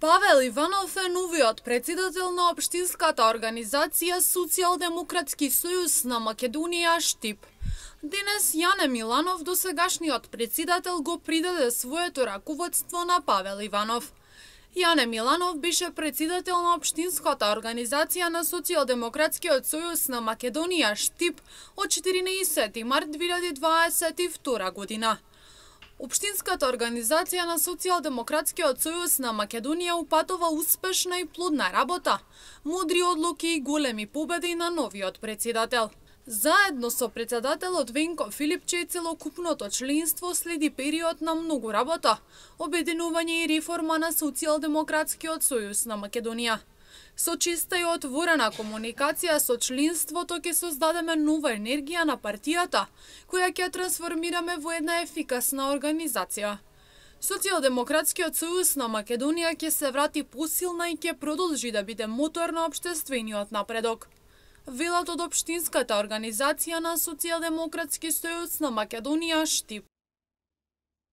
Павел Иванов е новиот председател на општинската организација Социјалдемократски сојуз на Македонија Штип. Денес Јане Миланов, досегашниот председател, го придаде своето раководство на Павел Иванов. Јане Миланов беше председател на општинската организација на Социјалдемократскиот сојуз на Македонија Штип од 14 март 2022 година. Општинската организација на Социјалдемократскиот сојуз на Македонија упатува успешна и плодна работа, мудри одлуки и големи победи на новиот председател. Заедно со председателот Венко Филипче и целокупното членство следи период на многу работа, обединување и реформа на Социјалдемократскиот сојуз на Македонија. Со чиста и отворена комуникација со членството ќе создадеме нова енергија на партијата, која ќе трансформираме во една ефикасна организација. Социјалдемократскиот сојуз на Македонија ќе се врати посилна и ќе продолжи да биде мотор на општествениот напредок, велат од општинската организација на Социјалдемократски сојуз на Македонија Штип.